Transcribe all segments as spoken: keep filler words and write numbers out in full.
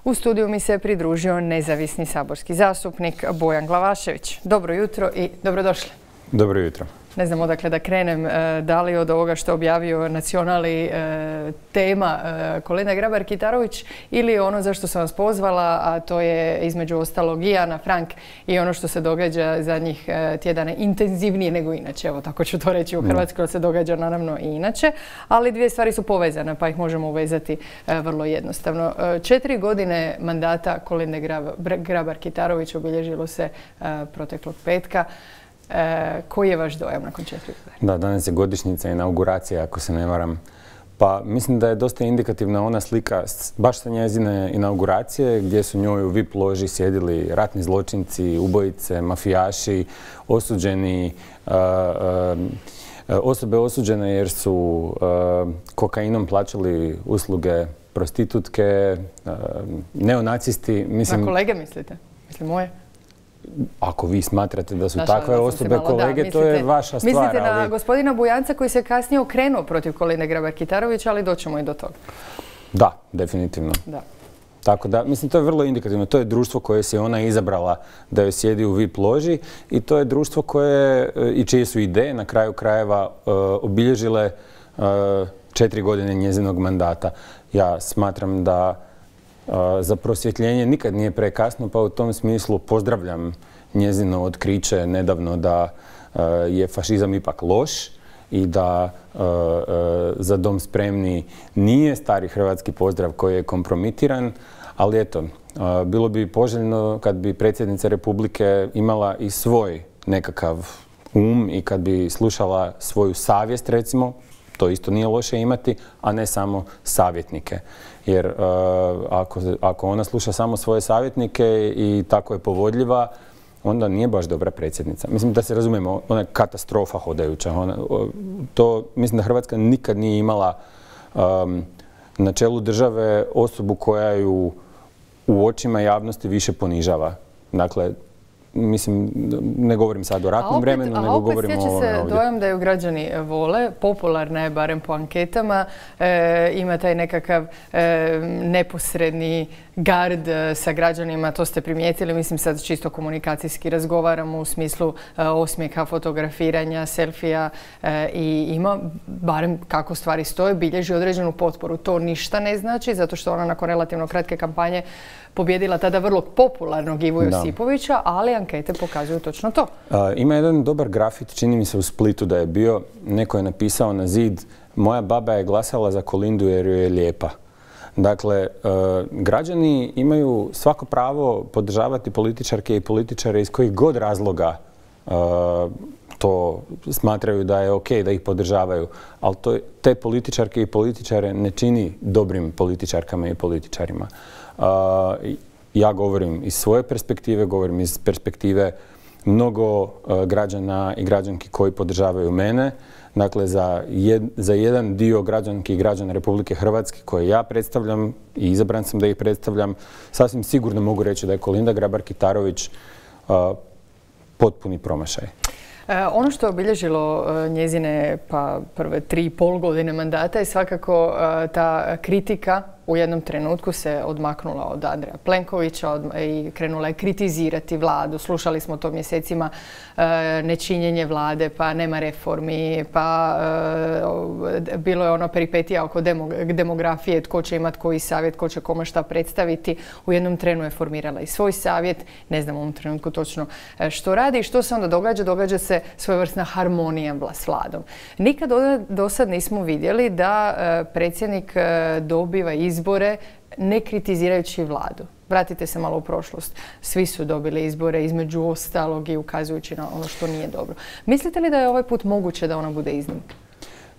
U studiju mi se pridružio nezavisni saborski zastupnik Bojan Glavašević. Dobro jutro i dobrodošli. Dobro jutro. Ne znam odakle da krenem, da li od ovoga što je objavio Nacionali tema Kolinda Grabar-Kitarović ili ono za što sam vas pozvala, a to je između ostalog i Ana Frank i ono što se događa zadnjih tjedana intenzivnije nego inače. Evo, tako ću to reći u Hrvatskoj, se događa naravno i inače, ali dvije stvari su povezane pa ih možemo uvezati vrlo jednostavno. Četiri godine mandata Kolinde Grabar-Kitarović obilježilo se proteklog petka. E, koji je vaš dojam nakon četiri godine? Da, danas je godišnjica inauguracija, ako se ne varam. Pa mislim da je dosta indikativna ona slika baš sa njezine inauguracije, gdje su njoj u V I P loži sjedili ratni zločinci, ubojice, mafijaši, osuđeni, uh, uh, osobe osuđene jer su uh, kokainom plaćali usluge prostitutke, uh, neonacisti. Mislim, na kolege mislite? Mislim moje? Ako vi smatrate da su takve osobe kolege, to je vaša stvar. Mislite na gospodina Bujanca koji se kasnije okrenuo protiv Kolinde Grabar-Kitarović, ali doćemo i do toga. Da, definitivno. Da. Tako da, mislim, to je vrlo indikativno. To je društvo koje se ona izabrala da joj sjedi u V I P loži i to je društvo koje i čije su ideje na kraju krajeva obilježile četiri godine njezinog mandata. Ja smatram da za prosvjetljenje nikad nije prekasno, pa u tom smislu pozdravljam njezino otkriće nedavno da je fašizam ipak loš i da Za dom spremni nije stari hrvatski pozdrav koji je kompromitiran, ali eto, bilo bi poželjno kad bi predsjednica Republike imala i svoj nekakav um i kad bi slušala svoju savjest, recimo, to isto nije loše imati, a ne samo savjetnike. Jer uh, ako, ako ona sluša samo svoje savjetnike i tako je povodljiva, onda nije baš dobra predsjednica. Mislim da se razumijemo, ona je katastrofa hodajuća. Ona, to, mislim da Hrvatska nikad nije imala um, na čelu države osobu koja ju u očima javnosti više ponižava. Dakle, mislim, ne govorim sad o ratnom vremenu, nego govorim o ovome ovdje. A opet stječe se dojam da ju građani vole, popularna je barem po anketama, e, ima taj nekakav e, neposredni gard sa građanima, to ste primijetili, mislim sad čisto komunikacijski razgovaramo u smislu e, osmijeha, fotografiranja, selfija e, i ima, barem kako stvari stoje, bilježi određenu potporu. To ništa ne znači, zato što ona nakon relativno kratke kampanje pobjedila tada vrlo popularnog Ivu Josipovića, ali ankete pokazuju točno to. A, ima jedan dobar grafit, čini mi se u Splitu da je bio, neko je napisao na zid: moja baba je glasala za Kolindu jer joj je lijepa. Dakle, uh, građani imaju svako pravo podržavati političarke i političare iz kojih god razloga uh, to smatraju da je ok da ih podržavaju, ali to, te političarke i političare ne čini dobrim političarkama i političarima. Uh, ja govorim iz svoje perspektive, govorim iz perspektive mnogo uh, građana i građanki koji podržavaju mene. Dakle, za, jed, za jedan dio građanki i građana Republike Hrvatske koje ja predstavljam i izabran sam da ih predstavljam, sasvim sigurno mogu reći da je Kolinda Grabar-Kitarović uh, potpuni promašaj. E, ono što je obilježilo e, njezine pa, prve tri i pol godine mandata je svakako e, ta kritika u jednom trenutku se odmaknula od Andreja Plenkovića od, i krenula je kritizirati vladu. Slušali smo to mjesecima, e, nečinjenje vlade, pa nema reformi, pa e, bilo je ono peripetija oko demog demografije, tko će imati koji savjet, tko će kome šta predstaviti. U jednom trenu je formirala i svoj savjet, ne znam u ovom trenutku točno što radi i što se onda događa. Događa se svojevrsna harmonija s vladom. Nikad do sad nismo vidjeli da e, predsjednik e, dobiva izbore ne kritizirajući vladu. Vratite se malo u prošlost. Svi su dobili izbore između ostalog i ukazujući na ono što nije dobro. Mislite li da je ovaj put moguće da ona bude iznimka?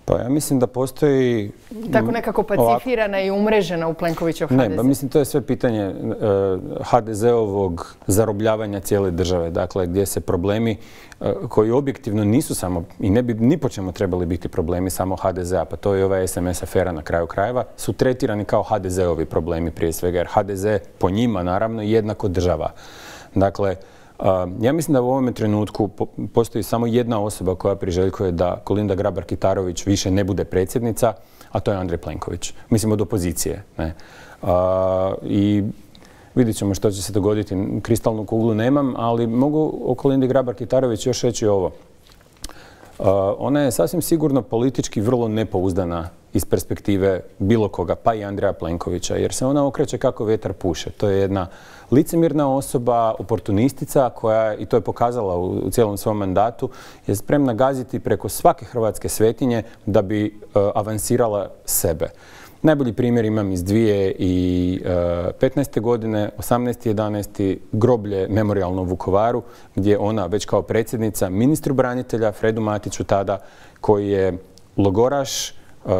Pa ja mislim da postoji... Tako nekako pacifirana i umrežena u Plenkovićev H D Z. Ne, pa mislim to je sve pitanje uh, H D Z-ovog zarobljavanja cijele države. Dakle, gdje se problemi uh, koji objektivno nisu samo i ne bi ni po čemu trebali biti problemi samo H D Z-a, pa to je ova S M S afera na kraju krajeva, su tretirani kao H D Z-ovi problemi prije svega, jer H D Z po njima naravno jednako država. Dakle, Uh, ja mislim da u ovome trenutku po postoji samo jedna osoba koja priželjkuje da Kolinda Grabar-Kitarović više ne bude predsjednica, a to je Andrej Plenković. Mislim od opozicije. Ne? Uh, I Vidjet ćemo što će se dogoditi. Kristalnu kuglu nemam, ali mogu o Kolindi Grabar-Kitarović još reći ovo. Uh, ona je sasvim sigurno politički vrlo nepouzdana iz perspektive bilo koga, pa i Andreja Plenkovića, jer se ona okreće kako vjetar puše. To je jedna licemjerna osoba, oportunistica koja, i to je pokazala u, u cijelom svom mandatu, je spremna gaziti preko svake hrvatske svetinje da bi uh, avansirala sebe. Najbolji primjer imam iz dvije tisuće petnaeste. godine, osamnaesti jedanaesti groblje memorijalno u Vukovaru, gdje ona već kao predsjednica ministru branitelja, Fredu Matiću tada, koji je logoraš,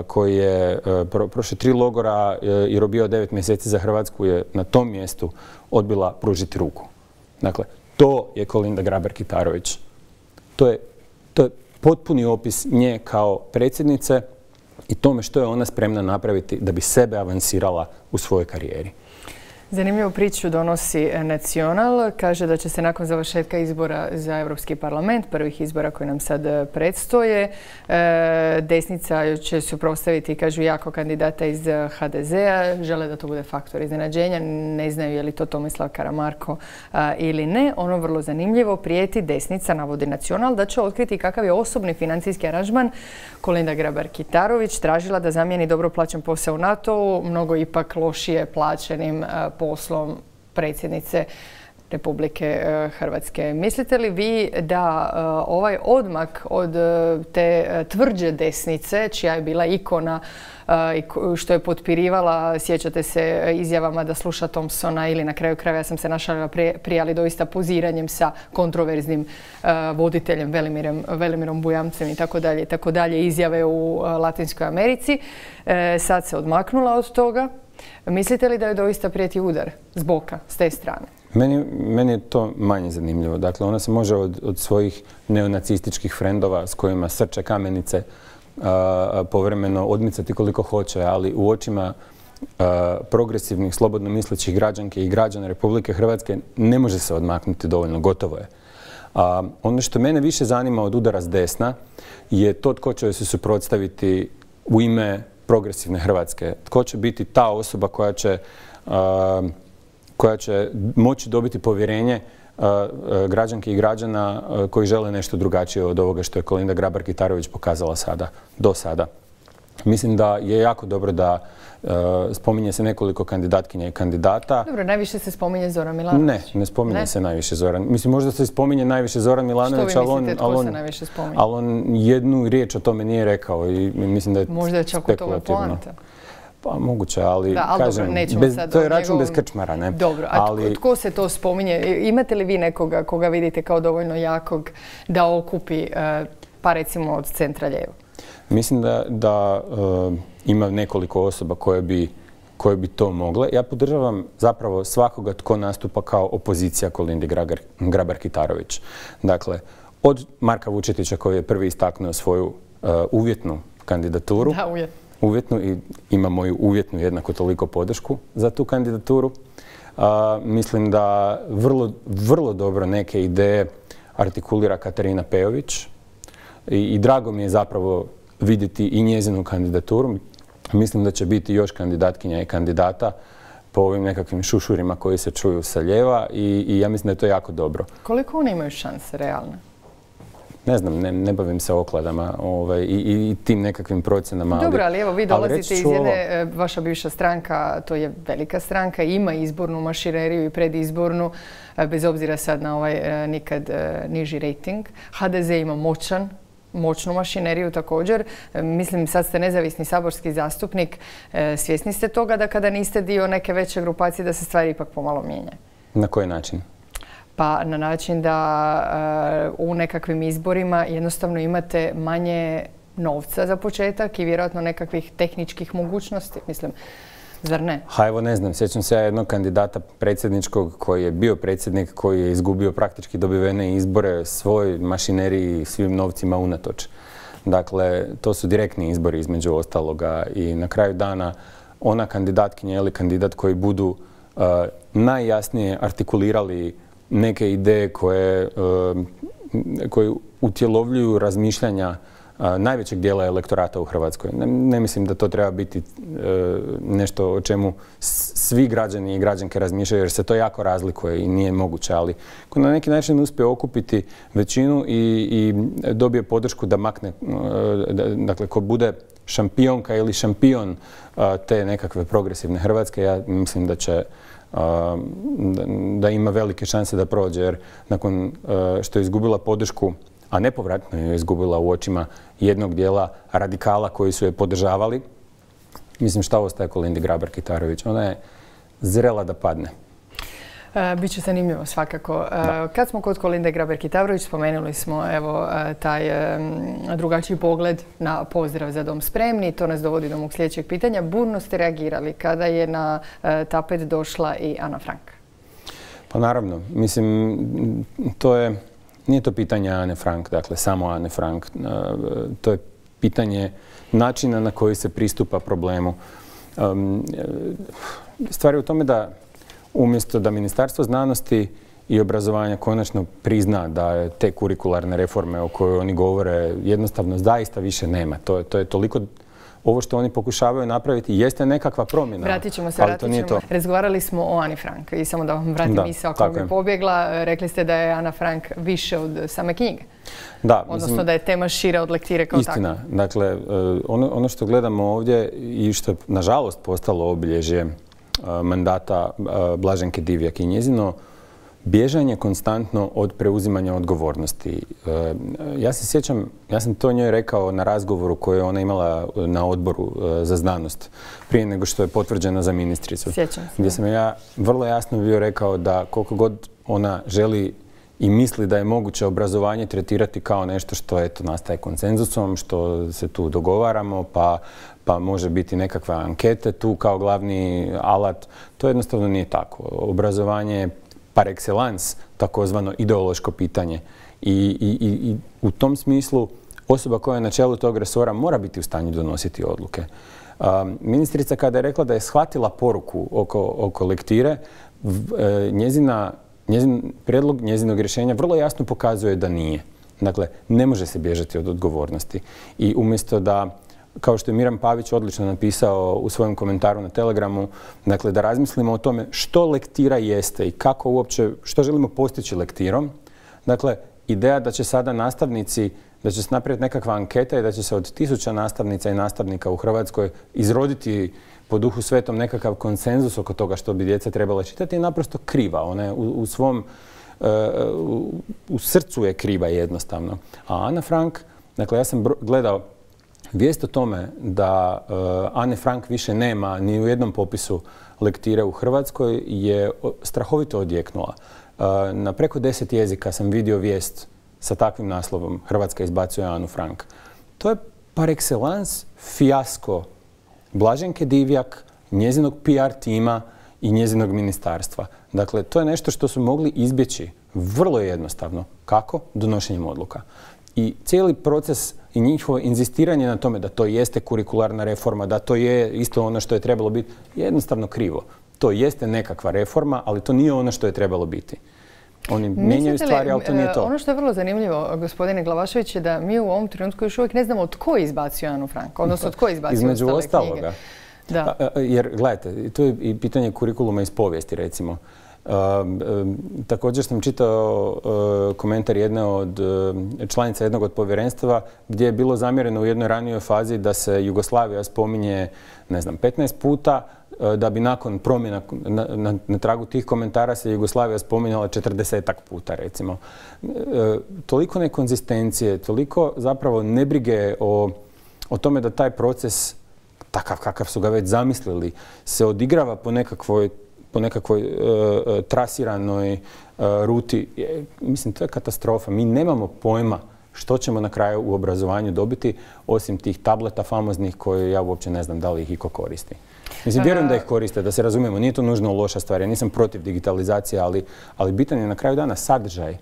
koji je pro, prošle tri logora i robio devet mjeseci za Hrvatsku, je na tom mjestu odbila pružiti ruku. Dakle, to je Kolinda Grabar-Kitarović. To je, to je potpuni opis nje kao predsjednice i tome što je ona spremna napraviti da bi sebe avansirala u svojoj karijeri. Zanimljivu priču donosi Nacional. Kaže da će se nakon završetka izbora za Europski parlament, prvih izbora koji nam sad predstoje, desnica će suprotstaviti, kažu, jako kandidata iz ha de zea. Žele da to bude faktor iznenađenja. Ne znaju je li to Tomislav Karamarko ili ne. Ono vrlo zanimljivo, prijeti desnica, navodi Nacional, da će otkriti kakav je osobni financijski aranžman Kolinda Grabar-Kitarović tražila da zamijeni dobro plaćen posao u NATO-u, mnogo ipak lošije plaćenim poslom predsjednice Republike Hrvatske. Mislite li vi da ovaj odmak od te tvrđe desnice, čija je bila ikona i što je potpirivala, sjećate se, izjavama da sluša Thompsona ili na kraju krajeva, ja sam se našalila prije, ali doista poziranjem sa kontroverznim voditeljem Velimirom, Velimirom Bujamcem i tako dalje, tako dalje, izjave u Latinskoj Americi. Sad se odmaknula od toga. Mislite li da je doista prijeti udar s boka, s te strane? Meni, meni je to manje zanimljivo. Dakle, ona se može od, od svojih neonacističkih frendova s kojima srče kamenice a, povremeno odmicati koliko hoće, ali u očima a, progresivnih, slobodno mislećih građanke i građana Republike Hrvatske ne može se odmaknuti dovoljno, gotovo je. A, ono što mene više zanima od udara s desna je to tko će se suprotstaviti u ime progresivne Hrvatske. Tko će biti ta osoba koja će, uh, koja će moći dobiti povjerenje uh, uh, građanki i građana uh, koji žele nešto drugačije od ovoga što je Kolinda Grabar-Kitarović pokazala sada, do sada. Mislim da je jako dobro da uh, spominje se nekoliko kandidatkinja i kandidata. Dobro, najviše se spominje Zoran Milanović. Ne, ne spominje ne? se najviše Zoran. Mislim, možda se spominje najviše Zoran Milanović, što vi ali on, mislite, tko se najviše spominje? Ali on jednu riječ o tome nije rekao i mislim da je možda je čak u tome poanta. Pa moguće, ali, da, ali kažem, dobro, bez, sad to je račun njegovom... bez krčmara, ne? Dobro, a ali... tko se to spominje? Imate li vi nekoga koga vidite kao dovoljno jakog da okupi, pa recimo od centra lijevo? Mislim da, da uh, ima nekoliko osoba koje bi, koje bi to mogle. Ja podržavam zapravo svakoga tko nastupa kao opozicija Kolindi Grabar-Kitarović. Dakle, od Marka Vučetića koji je prvi istaknuo svoju uh, uvjetnu kandidaturu. Da, uvjetnu. Uvjetnu i ima moju uvjetnu jednako toliko podršku za tu kandidaturu. Uh, mislim da vrlo, vrlo dobro neke ideje artikulira Katarina Pejović i, i drago mi je zapravo vidjeti i njezinu kandidaturu. Mislim da će biti još kandidatkinja i kandidata po ovim nekakvim šušurima koji se čuju sa lijeva i, i ja mislim da je to jako dobro. Koliko oni imaju šanse realne? Ne znam, ne, ne bavim se okladama ovaj, i, i tim nekakvim procjenama. Dobro, ali evo vi dolazite iz jedne, ovo... vaša bivša stranka, to je velika stranka, ima izbornu mašineriju i predizbornu, bez obzira sad na ovaj nikad niži rejting. ha de ze ima moćan, moćnu mašineriju također. Mislim, sad ste nezavisni saborski zastupnik. Svjesni ste toga da kada niste dio neke veće grupacije da se stvari ipak pomalo mijenjaju? Na koji način? Pa na način da uh, u nekakvim izborima jednostavno imate manje novca za početak i vjerojatno nekakvih tehničkih mogućnosti, mislim, zar ne? Ha, evo ne znam, sjećam se ja jednog kandidata predsjedničkog koji je bio predsjednik, koji je izgubio praktički dobivene izbore svoj mašineriji i svim novcima unatoč. Dakle, to su direktni izbori između ostaloga i na kraju dana ona kandidatkinja ili kandidat koji budu uh, najjasnije artikulirali neke ideje koje, koje utjelovljuju razmišljanja najvećeg dijela elektorata u Hrvatskoj. Ne, ne mislim da to treba biti nešto o čemu svi građani i građanke razmišljaju, jer se to jako razlikuje i nije moguće, ali ko na neki način uspije okupiti većinu i, i dobije podršku da makne, dakle, ko bude šampionka ili šampion te nekakve progresivne Hrvatske, ja mislim da će da ima velike šanse da prođe, jer nakon što je izgubila podršku, a nepovratno je izgubila u očima jednog dijela radikala koji su je podržavali, mislim, šta ostaje Kolindi Grabar-Kitarović? Ona je zrela da padne. Biće zanimljivo svakako. Da. Kad smo kod Kolinde Grabar-Kitarović, spomenuli smo evo taj drugačiji pogled na pozdrav Za dom spremni. To nas dovodi do mog sljedećeg pitanja. Burno ste reagirali kada je na tapet došla i Ana Frank. Pa naravno. Mislim, to je, nije to pitanje Ane Frank, dakle samo Ane Frank. To je pitanje načina na koji se pristupa problemu. Stvar je u tome da umjesto da Ministarstvo znanosti i obrazovanja konačno prizna da je te kurikularne reforme o kojoj oni govore jednostavno zaista više nema. To je, to je toliko, ovo što oni pokušavaju napraviti jeste nekakva promjena. Vratit ćemo se, vratit ćemo. Razgovarali smo o Ani Frank i samo da vam vratim misao koja mi je pobjegla. Rekli ste da je Ana Frank više od same knjige. Da, odnosno mislim, da je tema šira od lektire kao istina. takva. Dakle, ono, ono što gledamo ovdje i što je nažalost postalo obilježje mandata Blaženke Divjak i njezino bježanje konstantno od preuzimanja odgovornosti. Ja se sjećam, ja sam to njoj rekao na razgovoru koji je ona imala na odboru za znanost prije nego što je potvrđena za ministricu. Sjećam se. Gdje sam ja vrlo jasno bio rekao da koliko god ona želi i misli da je moguće obrazovanje tretirati kao nešto što eto nastaje konsenzusom, što se tu dogovaramo, pa pa može biti nekakve ankete tu kao glavni alat. To jednostavno nije tako. Obrazovanje je par excellence takozvano ideološko pitanje. I, i, i u tom smislu osoba koja je na čelu tog resora mora biti u stanju donositi odluke. Um, ministrica kada je rekla da je shvatila poruku oko, oko lektire, njezina, njezin prijedlog njezinog rješenja vrlo jasno pokazuje da nije. Dakle, ne može se bježati od odgovornosti. I umjesto da, kao što je Miran Pavić odlično napisao u svojem komentaru na Telegramu, dakle da razmislimo o tome što lektira jeste i kako uopće, što želimo postići lektirom. Dakle, ideja da će sada nastavnici, da će se napraviti nekakva anketa i da će se od tisuća nastavnica i nastavnika u Hrvatskoj izroditi po Duhu Svetom nekakav konsenzus oko toga što bi djeca trebala čitati je naprosto kriva. Ona je u, u svom, uh, u, u srcu je kriva jednostavno. A Ana Frank, dakle ja sam gledao vijest o tome da uh, Ane Frank više nema ni u jednom popisu lektire u Hrvatskoj je strahovito odjeknula. Uh, na preko deset jezika sam vidio vijest sa takvim naslovom Hrvatska izbacuje Anu Frank. To je par excellence fijasko Blaženke Divjak, njezinog P R tima i njezinog ministarstva. Dakle, to je nešto što su mogli izbjeći vrlo jednostavno. Kako? Donošenjem odluka. I cijeli proces i njihovo inzistiranje na tome da to jeste kurikularna reforma, da to je isto ono što je trebalo biti, je jednostavno krivo. To jeste nekakva reforma, ali to nije ono što je trebalo biti. Oni mijenjaju stvari, ali to nije to. Ono što je vrlo zanimljivo, gospodine Glavašević, je da mi u ovom trenutku još uvijek ne znamo tko je izbacio Anu Frank, odnosno tko je izbacio između ostale ostaloga. knjige. Da. Jer, gledajte, to je i pitanje kurikuluma iz povijesti, recimo. Uh, uh, također sam čitao uh, komentar jedne od uh, članica jednog od povjerenstva gdje je bilo zamjereno u jednoj ranijoj fazi da se Jugoslavija spominje, ne znam, petnaest puta, uh, da bi nakon promjena na, na, na tragu tih komentara se Jugoslavija spominjala četrdesetak puta, recimo. Uh, toliko nekonzistencije, toliko zapravo nebrige o, o tome da taj proces, takav kakav su ga već zamislili, se odigrava po nekakvoj po nekakvoj uh, trasiranoj uh, ruti. Je, mislim, to je katastrofa. Mi nemamo pojma što ćemo na kraju u obrazovanju dobiti, osim tih tableta famoznih koje ja uopće ne znam da li ih iko koristi. Mislim, vjerujem da ih koriste, da se razumijemo. Nije to nužno loša stvar. Ja nisam protiv digitalizacije, ali, ali bitan je na kraju dana sadržaj.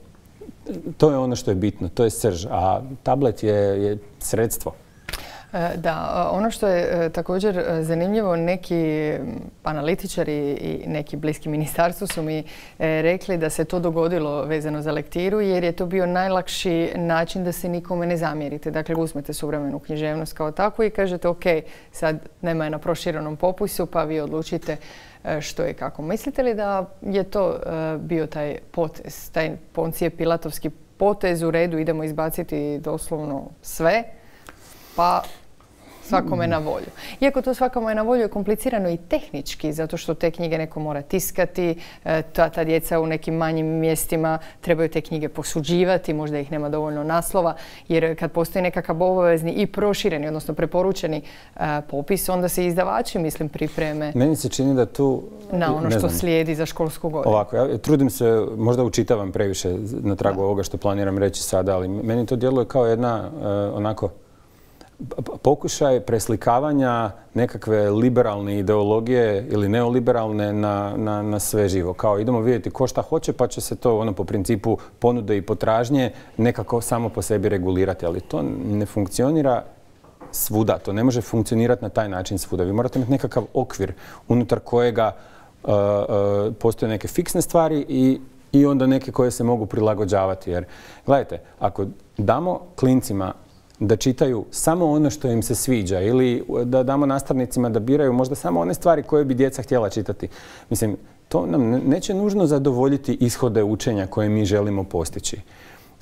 To je ono što je bitno. To je srž. A tablet je, je sredstvo. Da, ono što je također zanimljivo, neki analitičari i neki bliski ministarstvu su mi rekli da se to dogodilo vezano za lektiru jer je to bio najlakši način da se nikome ne zamjerite. Dakle, uzmete suvremenu književnost kao takvu i kažete ok, sad nema je na proširenom popisu pa vi odlučite što je kako. Mislite li da je to bio taj potez, taj Poncije Pilatovski potez u redu, idemo izbaciti doslovno sve, pa svakome na volju. Iako to svakome je na volju je komplicirano i tehnički, zato što te knjige neko mora tiskati, ta, ta djeca u nekim manjim mjestima trebaju te knjige posuđivati, možda ih nema dovoljno naslova, jer kad postoji nekakav obavezni i prošireni, odnosno preporučeni a, popis, onda se izdavači, mislim, pripreme. Meni se čini da tu... Na ono što slijedi za školsku godinu. Ovako, ja trudim se, možda učitavam previše na tragu ovoga što planiram reći sada, ali meni to djeluje kao jedna uh, onako pokušaj preslikavanja nekakve liberalne ideologije ili neoliberalne na, na, na sve živo. Kao idemo vidjeti ko šta hoće pa će se to ono po principu ponude i potražnje nekako samo po sebi regulirati. Ali to ne funkcionira svuda. To ne može funkcionirati na taj način svuda. Vi morate imati nekakav okvir unutar kojega uh, uh, postoje neke fiksne stvari i, i onda neke koje se mogu prilagođavati. Jer gledajte, ako damo klincima da čitaju samo ono što im se sviđa ili da damo nastavnicima da biraju možda samo one stvari koje bi djeca htjela čitati. Mislim, to nam neće nužno zadovoljiti ishode učenja koje mi želimo postići.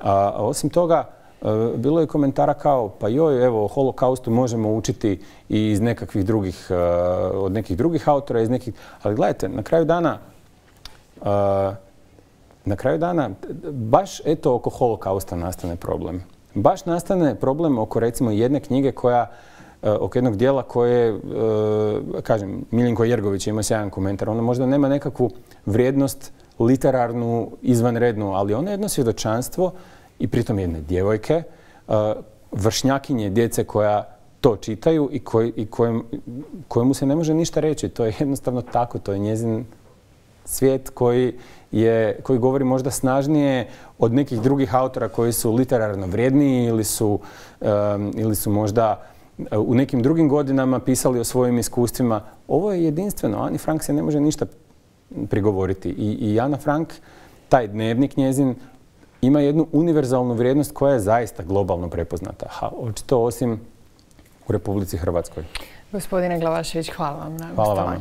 A osim toga, bilo je komentara kao, pa joj, evo, o holokaustu možemo učiti i iz nekakvih drugih, od nekih drugih autora, iz nekih... Ali gledajte, na kraju dana, na kraju dana, baš eto oko holokausta nastane problem. Baš nastane problem oko recimo jedne knjige koja, oko jednog dijela koje, kažem, Miljenko Jergović ima sjajan komentar. Ona možda nema nekakvu vrijednost literarnu, izvanrednu, ali ona je jedno svjedočanstvo i pritom jedne djevojke, vršnjakinje djece koja to čitaju i, koj, i kojem, kojemu se ne može ništa reći. To je jednostavno tako, to je njezin svijet koji, je, koji govori možda snažnije od nekih drugih autora koji su literarno vrijedniji ili su, um, ili su možda u nekim drugim godinama pisali o svojim iskustvima. Ovo je jedinstveno. Ani Frank se ne može ništa prigovoriti. I, i Ana Frank, taj dnevnik njezin, ima jednu univerzalnu vrijednost koja je zaista globalno prepoznata. Ha, očito osim u Republici Hrvatskoj. Gospodine Glavašević, hvala vam na gostovanju.